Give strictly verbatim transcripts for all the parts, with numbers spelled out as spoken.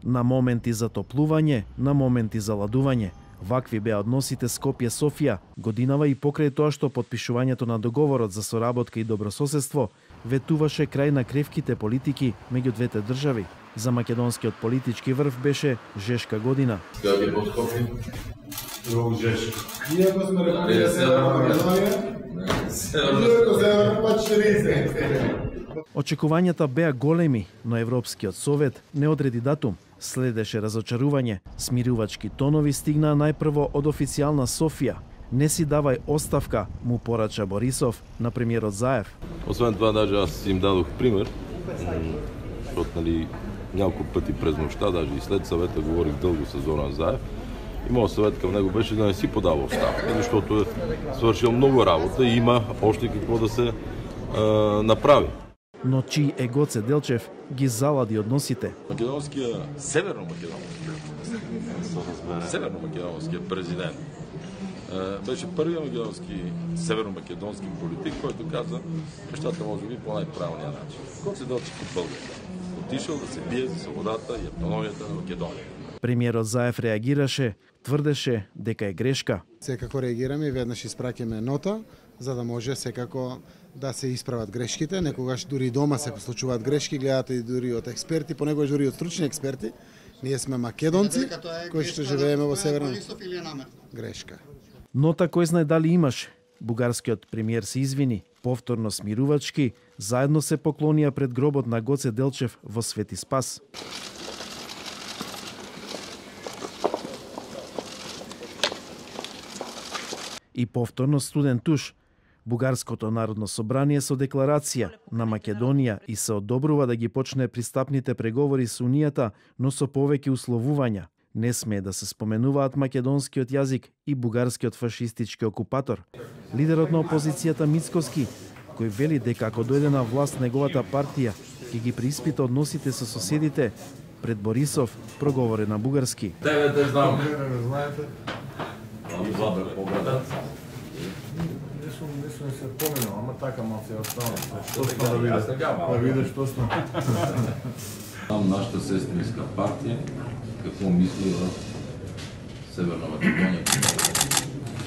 На моменти за топлување, на моменти за ладување. Вакви беа односите Скопје-Софија, годинава и покрај тоа што потпишувањето на договорот за соработка и добрососедство ветуваше крај на кревките политики меѓу двете држави. За македонскиот политички врв беше жешка година. Ја под Скопје, друг жешка. Иако сме Република Северна Македонија, иако се па четириесет. Очекувањата беа големи, но Европскиот совет не одреди датум. Следеше разочарување. Смирувачки тонови стигнаа најпрво од официјална Софија. Не си давај оставка, му порача Борисов на премиерот Заев. Освен това, даже аз им дадох пример, защото нали, няколко пъти през нощта, даже и след съвета говорих дълго с Зоран Заев. И моят съвет към него беше да не си подава оставка, защото е свършил много работа и има още какво да се е, направи. Но чий е Гоце Делчев ги залади односите. Македонския, северно-македонския, северно-македонския президент беше първият македонски, северно-македонски политик, който каза нещата може би по най-правилния начин. Гоце Делчев от България. Отишъл да се бие за свободата и автономията на Македония. Премиерот Заев реагираше, тврдеше дека е грешка. Секако реагираме и веднаш испраќаме нота, за да може секако да се исправат грешките. Некогаш дури и дома се случуваат грешки, гледате и дури од експерти, понекогаш дури од стручни експерти. Ние сме македонци кои што живееме во Северна грешка. Нота кој знае дали имаше. Бугарскиот премиер се извини, повторно смирувачки, заедно се поклонија пред гробот на Гоце Делчев во Свети Спас. И повторно студен туш. Бугарското народно собрание со декларација на Македонија и се одобрува да ги почне пристапните преговори со Унијата, но со повеќе условувања. Не смее да се споменуваат македонскиот јазик и бугарскиот фашистички окупатор. Лидерот на опозицијата Мицкоски, кој вели дека ако дојде на власт неговата партија, ќе ги преиспита односите со соседите, пред Борисов проговори на бугарски. Тебе те знам. Не сум се поминал, ама така мал се останал. Што сме да видиш? Да видиш што сме. Знам нашата сестринска партија какво мисли за Северна Македонија.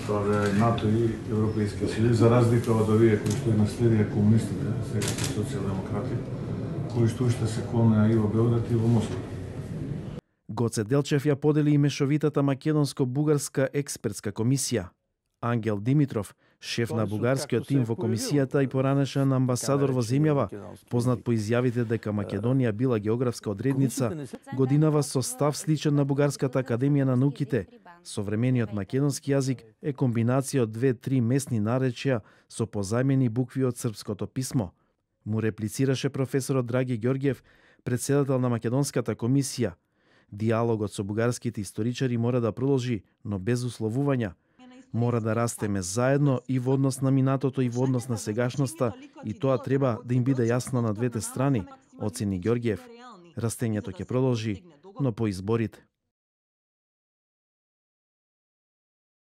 Тоа е НАТО и Европейскиот съюз, за разлика од овие кои што наследија комунистите, сега се социјалдемократи, кои што уште се клонеа и во Белград и во Москва. Гоце Делчев ја подели и мешовитата македонско-бугарска експертска комисија. Ангел Димитров, шеф на бугарскиот тим во комисијата и поранешен амбасадор во земјава, познат по изјавите дека Македонија била географска одредница, годинава со став сличен на Бугарската академија на науките. Современиот македонски јазик е комбинација од две-три местни наречја со позајмени букви од српското писмо. Му реплицираше професорот Драги Ѓорѓев, председател на Македонската комисија. Диалогот со бугарските историчари мора да продолжи, но без условувања. Мора да растеме заедно и во однос на минатото и во однос на сегашноста, и тоа треба да им биде јасно на двете страни, оцени Ѓорѓев. Растењето ќе продолжи, но по изборите.